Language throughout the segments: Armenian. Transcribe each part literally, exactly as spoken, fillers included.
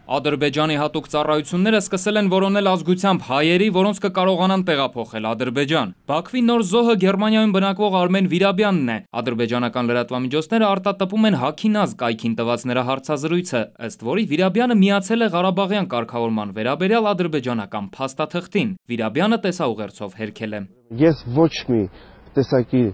Ադրբեջանի հատուկ ծառայությունները սկսել են որոնել ազգությամբ հայերի, որոնց կկարողանան տեղափոխել Ադրբեջան։ Բաքվի նոր զոհը Գերմանիայում բնակվող Արմեն Վիրաբյանն է։ Ադրբեջանական լրատվամիջոցները արտատպում են Հաքինազ կայքին տված նրա հարցազրույցը, ըստ որի Վիրաբյանը միացել է Ղարաբաղյան կարգավորման վերաբերյալ ադրբեջանական փաստաթղթին։ Վիրաբյանը տեսաուղերձով հերքել է. Ես ոչ մի տեսակի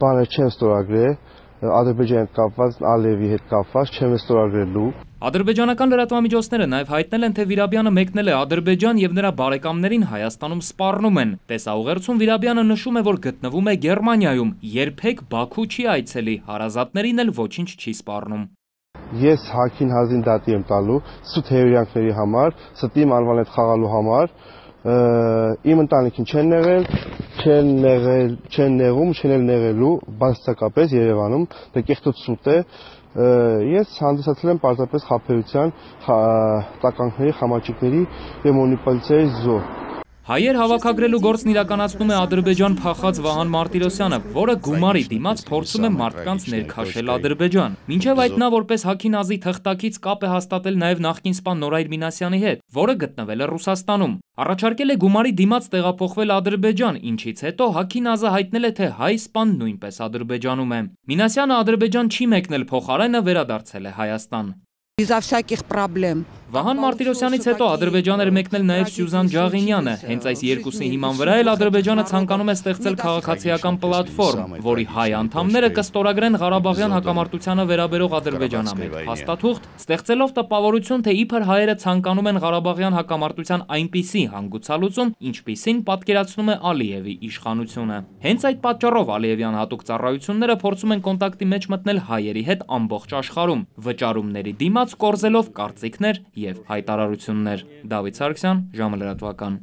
բաներ չեմ ստորագրել Ադրբեջանի հետ կապված, Ալիևի հետ կապված չեմ ստորագրելու։ Ադրբեջանական լրատվամիջոցները նաև հայտնել են, թե Վիրաբյանը մեկնել է Ադրբեջան եւ նրա բարեկամներին Հայաստանում սպառնում են։ Տեսաուղերձում Վիրաբյանը նշում է, որ գտնվում է Գերմանիայում, երբեք Բաքու չի այցելի, հարազատներին էլ ոչինչ չի սպառնում։ Ես Հաքին Հազին դատի եմ տալու սուտ հերոյանքների համար, ստիմ անվան հետ խաղալու համար, իմ ընտանիքին չեն նեղել, չեն նեղել, չեն նեղում, չեն էլ նեղելու, բացարձակապես Երևանում, դա կեղտոտ սուտ է։ Ես հանդիսացել եմ պարզապես խաբեության, տականքների, խամաճիկների և մանիպուլյացիայի զոհ։ Հայեր հավաքագրելու գործն իրականացնում է Ադրբեջան փախած Վահան Մարտիրոսյանը, որը գումարի դիմաց փորձում է մարդկանց ներքաշել Ադրբեջան։ Մինչև այդ նա որպես Հաքինազի թղթակից կապ է հաստատել նաև նախկին սպա Նորայր Մինասյանի հետ, որը գտնվել է Ռուսաստանում։ Առաջարկել է գումարի դիմաց տեղափոխվել Ադրբեջան, ինչից հետո Հաքինազը հայտնել է, թե հայ սպան նույնպես Ադրբեջանում է։ Մինասյանը Ադրբեջան չի մեկնել, փոխարենը վերադարձել է Հայաստան։ Безо всяких проблем։ Վահան Մարտիրոսյանից հետո Ադրբեջան էր մեկնել նաև Սյուզան Ջաղինյանը։ Հենց այս երկուսի հիման վրա էլ Ադրբեջանը ցանկանում է ստեղծել քաղաքացիական պլատֆորմ, որի հայ անդամները կստորագրեն Ղարաբաղյան հակամարտությանը վերաբերող ադրբեջանամետ փաստաթուղթ, ստեղծելով տպավորություն, թե իբր հայերը ցանկանում են Ղարաբաղյան հակամարտության այնպիսի հանգուցալուծում, ինչպիսին պատկերացնում է Ալիևի իշխանությունը։ Հենց այդ պատճառով Ալիևյան հատուկ ծառայությունները փորձում են կոնտակտի մեջ մտնել հայերի հետ ամբողջ աշխարհում, վճարումների դիմաց կորզելով կարծիքներ և հայտարարություններ։ Դավիթ Սարգսյան, ժամը լրատվական։